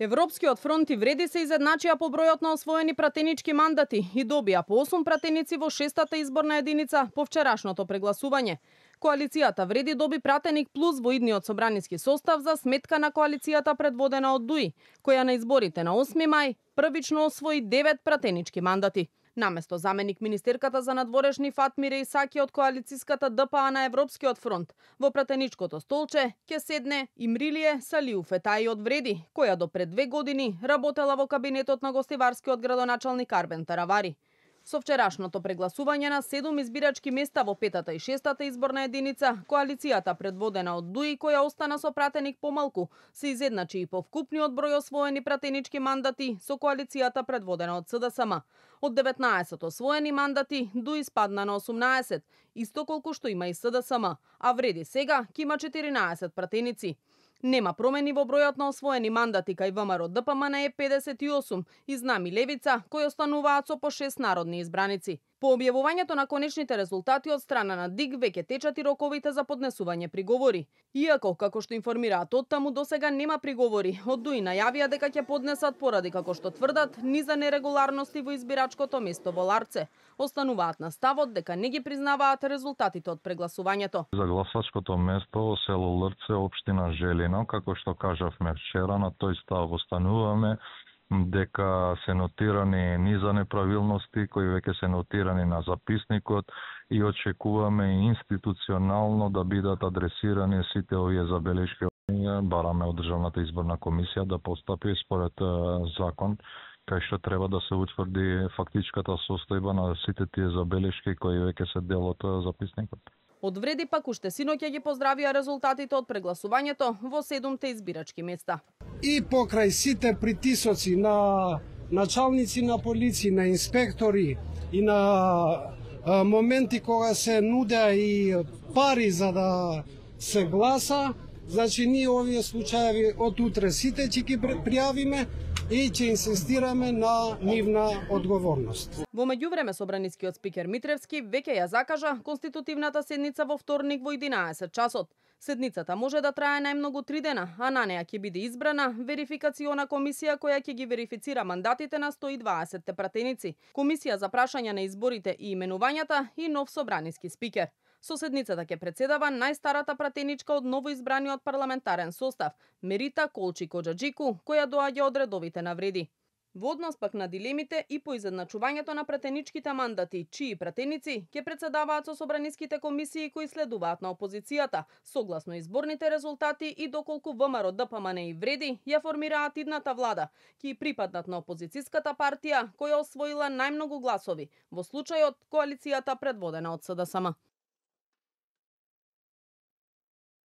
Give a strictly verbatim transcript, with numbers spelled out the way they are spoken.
Европскиот фронт и Вреди се изедначија по бројот на освоени пратенички мандати и добија по осум пратеници во шестата изборна единица по вчерашното прегласување. Коалицијата Вреди доби пратеник плюс во идниот собраниски состав за сметка на коалицијата предводена од ДУИ, која на изборите на осми мај првично освои девет пратенички мандати. Наместо заменик министерката за надворешни Фатмире Исаки од коалициската ДПА на Европскиот фронт, во пратеничкото столче ќе седне Имрилие Салиу Фетаи од Вреди, која до пред две години работела во кабинетот на гостиварскиот градоначалник Арбен Таравари. Со вчерашното прегласување на седум избирачки места во петата и шестата изборна единица, коалицијата предводена од ДУИ, која остана со пратеник помалку, се изедначи и по вкупниот број освоени пратенички мандати со коалицијата предводена од СДСМ. Од деветнаесет освоени мандати, ДУИ спадна на осумнаесет, исто колку што има и СДСМ, а Вреди сега ќе има четиринаесет пратеници. Нема промени во бројот на освоени мандати кај ВМРО ДПМН е педесет и осум и Знами Левица, кои остануваат со по шест народни избраници. По објавувањето на конечните резултати од страна на ДИГ веќе течат и роковите за поднесување приговори. Иако, како што информираат оттаму, досега нема приговори, од ДУИ најавија дека ќе поднесат поради, како што тврдат, низа нерегуларности во избирачкото место во Ларце. Остануваат на ставот дека не ги признаваат резултатите од прегласувањето. За гласачкото место село Лрце, општина Желино, како што кажавме вчера, на тој став остануваме, дека се нотирани низа неправилности кои веќе се нотирани на записникот и очекуваме институционално да бидат адресирани сите овие забелешки. Бараме од Државната изборна комисија да постапи според закон, кај што треба да се утврди фактичката состојба на сите тие забелешки кои веќе се дел од записникот. Од Вреди пак уште синоќа ги поздравија резултатите од прегласувањето во седумте избирачки места. И покрај сите притисоци на началници на полиција, на инспектори и на а, моменти кога се нудеа и пари за да се гласа, значи ние овие случаи од утре сите ќе ги пријавиме и ќе инсистираме на нивна одговорност. Во меѓувреме собранискиот спикер Митревски веќе ја закажа конститутивната седница во вторник во единаесет часот. Седницата може да трае најмногу три дена, а на неа ќе биде избрана верификациона комисија која ќе ги верифицира мандатите на сто и дваесет пратеници, комисија за прашања на изборите и именувањата и нов собраниски спикер. Со седницата ќе председава најстарата пратеничка од новоизбраниот парламентарен состав, Мерита Колчи Коџаџику, која доаѓа од редовите на Вреди. Во однос пак на дилемите и по изедначувањето на пратеничките мандати, чии пратеници ќе председаваат со собраниските комисии кои следуваат на опозицијата, согласно изборните резултати и доколку ВМРО ДПМН и Вреди ја формираат идната влада, ќе припаднат на опозицијската партија која освоила најмногу гласови, во случајот коалицијата предводена од СДСМ.